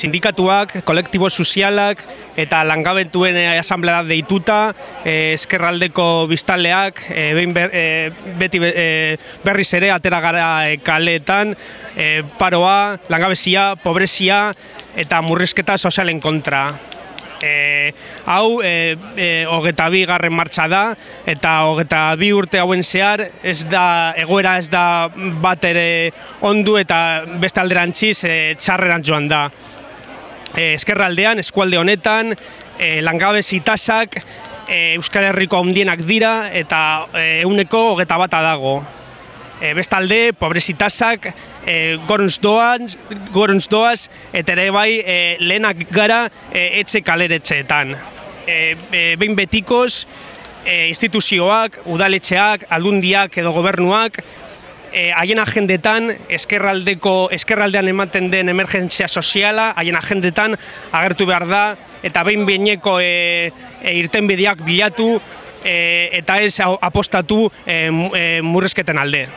Sindikatuak, kolektibo sozialak eta langabetuen asamblea deituta, ezkerraldeko biztanleak beti berriz ere atera gara kaleetan, paroa, langabezia, pobrezia eta murrizketa sozialen kontra. Hau 22. martxa da, eta 22 urte hauen zehar egoera ez da bat ere ondu eta beste alderantziz txarrerantz joan da. Ezkerraldean, eskualde honetan, langabezi tasak Euskal Herriko handienak dira eta 121 dago. Bestalde, pobrezi tasak gorantz doaz eta ere bai lehenak gara etxe kaleretxeetan. Behin betikoz, instituzioak, udaletxeak, aldundiak edo gobernuak, haien agendetan, ezkerraldean ematen den emergentzia soziala, haien agendetan agertu behar da, eta behin-behineko irtenbideak bilatu eta ez apostatu murrizketen alde.